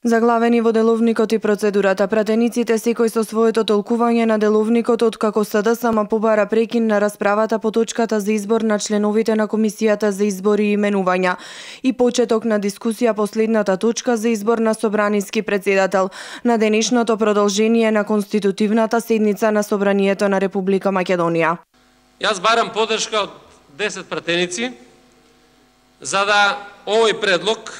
Заглавени во деловникот и процедурата, пратениците секој со своето толкување на деловникот откако СДСМ побара прекин на расправата по точката за избор на членовите на Комисијата за избори и именувања и почеток на дискусија последната точка за избор на собраниски председател на денешното продолжение на конститутивната седница на Собранието на Република Македонија. Јас барам поддршка од 10 пратеници за да овој предлог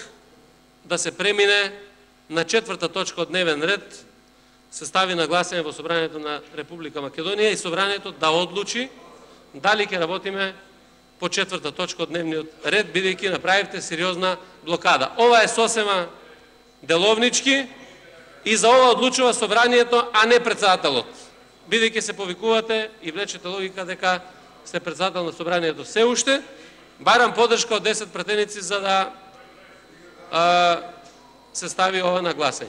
да се премине на четврта точка од дневен ред, се стави на гласање во Собранието на Република Македонија и Собранието да одлучи дали ќе работиме по четврта точка од дневниот ред, бидејќи направивте сериозна блокада. Ова е сосема деловнички и за ова одлучува Собранието, а не председателот. Бидејќи се повикувате и влечете логика дека сте председател на Собранието се уште, барам поддршка од 10 пратеници за да се стави ова на гласање.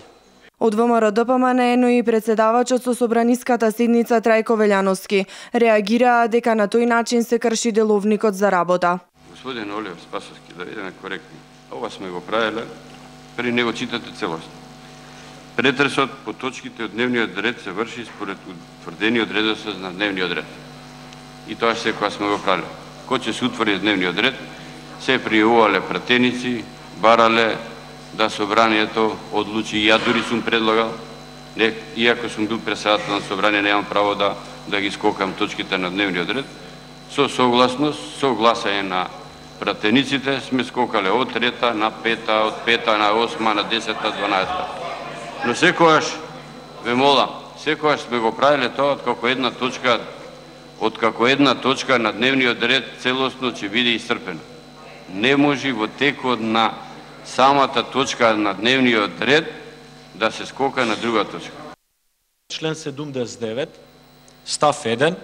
Од ВМРО ДПМН, но и председавачот со собраниската седница Трајко Велјановски реагираа дека на тој начин се крши деловникот за работа. Господин Олив Спасовски, да бидеме коректни, ова сме го правиле, при него читате целосно. Претресот по точките од дневниот ред се врши според утврдениот редослед на дневниот ред. И тоа секоја сме го правиле. Кој ќе се утврди дневниот ред, се пријавувале пратеници, барале да Собранието одлучи. Ја дури сум предлагал, иако сум бил председател на Собрание, немам право да ги скокам точките на дневниот ред. Со согласност, со гласање на пратениците сме скокале од трета на пета, од пета на 8, на 10, 12. Но секојаш, ве молам, секојаш сме го правиле тоа откако една точка на дневниот ред целосно ќе биде исцрпена. Не може во текот на самата точка на дневниот ред да се скока на друга точка. Член 79, став 1,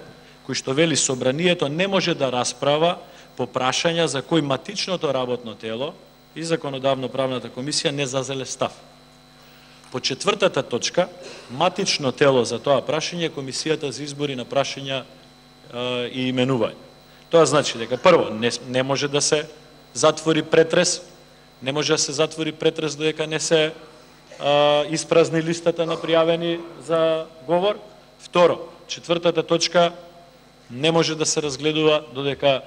кој што вели Собранието не може да расправа по прашања за кои матичното работно тело и Законодавно-правната комисија не зазеле став. По четвртата точка, матично тело за тоа прашање е Комисијата за избори на прашања и именување. Тоа значи дека прво не може да се затвори претрес, не може да се затвори претрес додека не се испразни листата на пријавени за говор. Второ, четвртата точка не може да се разгледува додека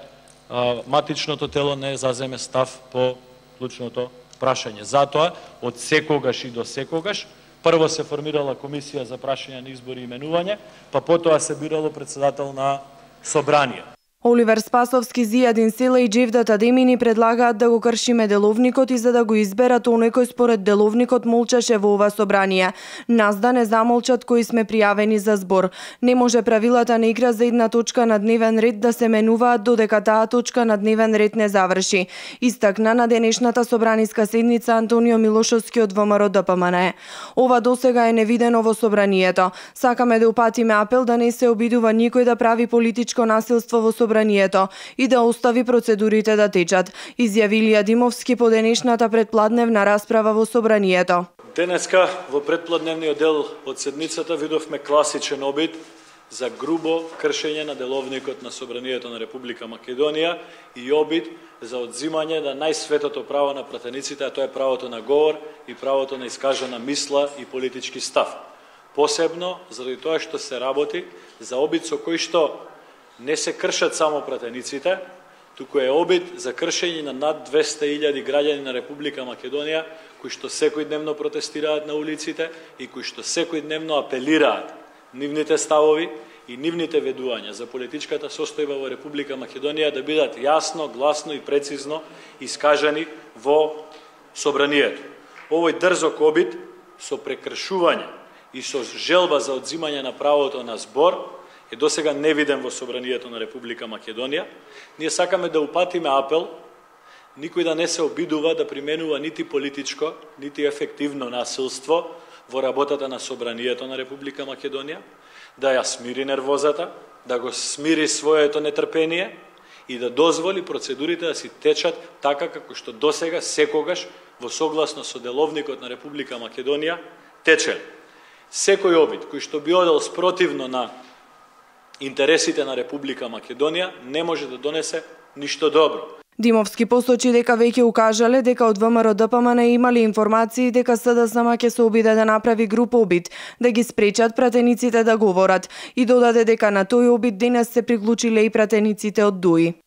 матичното тело не заземе став по клучното прашање. Затоа, од секогаш и до секогаш, прво се формирала Комисија за прашања на избори и именување, па потоа се бирало председател на Собрание. Оливер Спасовски, Зијадин Села и Џевдат Адемини предлагаат да го кршиме деловникот и за да го изберат оној кој според деловникот молчеше во ова собрание. Нас да не замолчат кои сме пријавени за збор. Не може правилата на игра за една точка на дневен ред да се менуваат додека таа точка на дневен ред не заврши. Истакна на денешната собраниска седница Антонио Милошовски од ВМРО ДПМН. Ова досега е невидено во собранието. Сакаме да упатиме апел да не се обидува никој да прави политичко насилство во собранието и да остави процедурите да течат, изјави Илија Димовски по денешната предпладневна расправа во собранието. Денеска во предпладневниот дел од седницата видовме класичен обид за грубо кршење на деловникот на Собранието на Република Македонија и обид за одзимање на најсветото право на пратениците, а тоа е правото на говор и правото на искажана мисла и политички став. Посебно заради тоа што се работи за обид со кој што не се кршат само пратениците, туку е обид за кршење на над 200.000 граѓани на Република Македонија, кои што секојдневно протестираат на улиците и кои што секојдневно апелираат нивните ставови и нивните ведувања за политичката состојба во Република Македонија да бидат јасно, гласно и прецизно искажани во Собранието. Овој дрзок обид со прекршување и со желба за одзимање на правото на збор е досега невиден во Собранието на Република Македонија. Ние сакаме да упатиме апел никој да не се обидува да применува нити политичко, нити ефективно насилство во работата на Собранието на Република Македонија, да ја смири нервозата, да го смири своето нетрпение и да дозволи процедурите да си течат така како што досега секогаш во согласно со деловникот на Република Македонија тече. Секој обид кој што би одел спротивно на интересите на Република Македонија не може да донесе ништо добро. Димовски посочи дека веќе укажале дека од ВМРО-ДПМН имали информации дека СДСМ ќе се обиде да направи груп обид, да ги спречат пратениците да говорат и додаде дека на тој обид денес се приклучиле и пратениците од ДУИ.